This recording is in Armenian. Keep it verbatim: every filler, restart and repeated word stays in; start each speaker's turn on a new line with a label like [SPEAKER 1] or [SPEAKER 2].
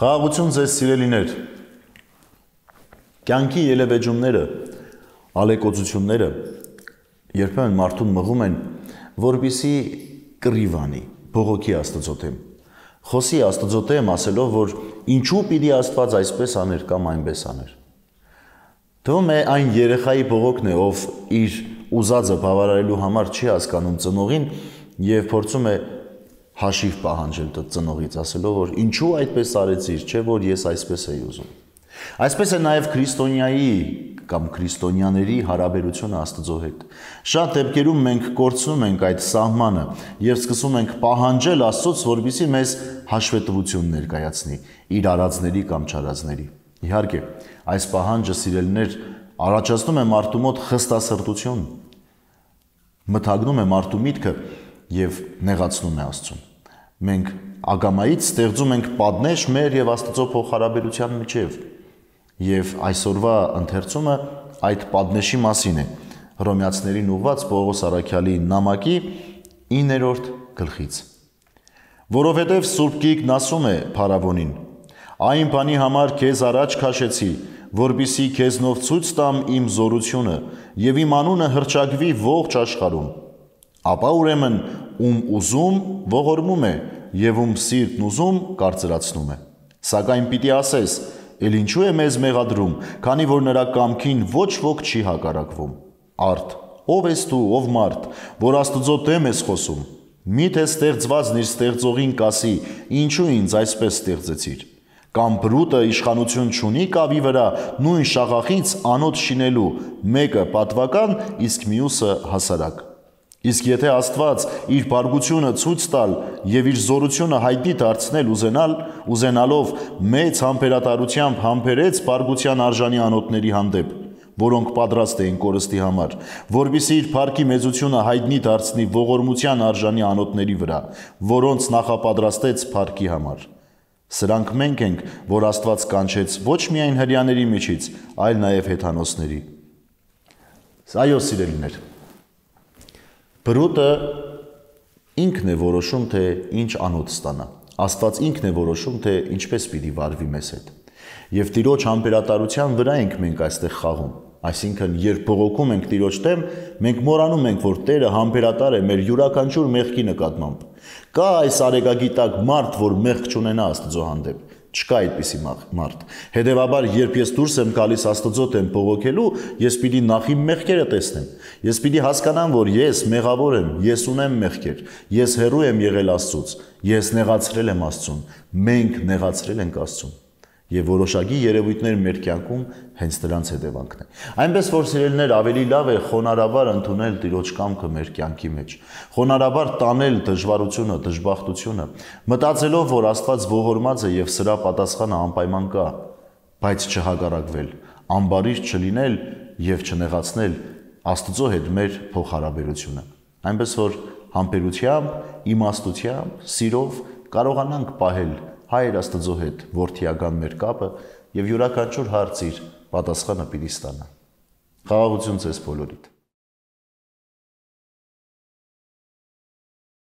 [SPEAKER 1] Խաղաղություն ձեզ սիրելիներ, կյանքի ելևեջումները, ալեկոծությունները երբեմն մարդուն մղում են, որպեսզի կռիվ անի, բողոքի Աստծո դեմ, խոսի Աստծո դեմ ասելով, որ ինչու պիտի Աստված այսպես աներ կամ այնպես աներ։ Թվում է այն երեխայի բողոքն է, ով իր ուզածը բավարարելու համար չի հասկանում ծնողին եւ փորձում է հաշիվ պահանջել ծնողից, ասելով, որ ինչու այդպես արեցիր, չէ՞ որ ես այսպես էի ուզում։ Այսպես է նաև քրիստոնյայի կամ քրիստոնյաների հարաբերությունը Աստծո հետ։ Շատ դեպքերում մենք կորցնում ենք այդ սահմանը եւ սկսում ենք պահանջել Աստծոց, որպեսզի մեզ հաշվետվություն ներկայացնի իր արածների կամ չարածների։ Իհարկե, այս պահանջը, սիրելիներ, առաջացնում է մարդու մոտ խստասրտություն, մթագնում է մարդու միտքը եւ նեղացնում է Աստծուն։ Մենք ագամայից ստեղծում ենք պատնեշ մեր եւ Աստծո փոխհարաբերության միջեւ։ Եվ այսօրվա ընթերցումը այդ պատնեշի մասին է։ Հռոմեացիներին ուղված Պողոս առաքյալի նամակի իններորդ գլխից։ Որովհետև Սուրբ Գիրքն ասում է փարավոնին. «Այն բանի համար քեզ առաջ քաշեցի, որպեսզի քեզնով ցույց տամ իմ զորությունը եւ իմ անունը հռչակվի ողջ աշխարհում։ Ապա ուրեմն ում ուզում ողորմում է եւ ում սիրտն ուզում կարծրացնում է։ Սակայն պիտի ասես, էլ ինչու է մեզ մեղադրում, քանի որ նրա կամքին ոչ ոք չի հակառակվում։ Արդ, ով ես դու, ով մարդ, որ Աստծո դեմ ես խոսում։ Միթե ստեղծվածն իր ստեղծողին կասի, ինչու ինձ այսպես ստեղծեցիր։ Կամ բրուտը իշխանություն չունի կավի վրա նույն շաղախից անոթ շինելու, մեկը պատվական, իսկ մյուսը հասարակ։ Իսկ եթե Աստված իր բարգությունը ցույց տալ եւ իր զորությունը հայտնի դարձնել ուզենալ, ուզենալով մեծ համբերատարությամբ համբերեց բարգության արժանի անոթների հանդեպ, որոնք պատրաստ էին կորստի համար, որպեսզի իր փառքի մեծությունը հայտնի դարձնի ողորմության արժանի անոթների վրա, որոնց նախապատրաստեց փառքի համար։ Սրանք մենք ենք, որ Աստված կանչեց ոչ միայն հրյաների միջից, այլ նաև հեթանոսների։ Այո, սիրելիներ, բրուտը ինքն է որոշում, թե ինչ անոթ ստանա։ Աստված ինքն է որոշում, թե ինչպես պիտի վարվի մեզ հետ։ Եվ Տիրոջ համբերատարության վրա ենք մենք այստեղ խաղում։ Այսինքն, երբ բողոքում ենք Տիրոջ դեմ, մենք մոռանում ենք, որ Տերը համբերատար է մեր յուրաքանչյուր մեղքի նկատմամբ։ Կա այս արեգագիտակ մարդ, որ մեղք չունենա Աստծո հանդեպ։ Չկա այդպիսի մարդ։ Հետևաբար, երբ ես դուրս եմ գալիս Աստծո դեմ բողոքելու, ես պիտի նախ իմ մեղքերը տեսնեմ։ Ես պիտի հասկանամ, որ ես մեղավոր եմ, ես ունեմ մեղքեր, ես հեռու եմ եղել Աստծուց, ես նեղացրել եմ Աստծուն, մենք նեղացրել ենք Աստծուն։ Եվ որոշակի երևույթներ մեր կյանքում հենց դրանց հետևանքն է։ Այնպես որ սիրելիներ, ավելի լավ է խոնարհաբար ընդունել Տիրոջ կամքը մեր կյանքի մեջ, խոնարհաբար տանել դժվարությունը, դժբախտությունը, մտածելով, որ Աստված ողորմած է եւ սրա պատասխանը անպայման կա, բայց չհակառակվել, անբարիր չլինել եւ չնեղացնել Աստծո հետ մեր փոխհարաբերությունը։ Այնպես որ համբերությամբ, իմաստությամբ, սիրով կարողանանք պահել Հայր Աստծո հետ որդիական մեր կապը եւ յուրաքանչյուր հարց իր պատասխանը պիտի ստանա։ Խաղաղություն ձեզ բոլորիդ։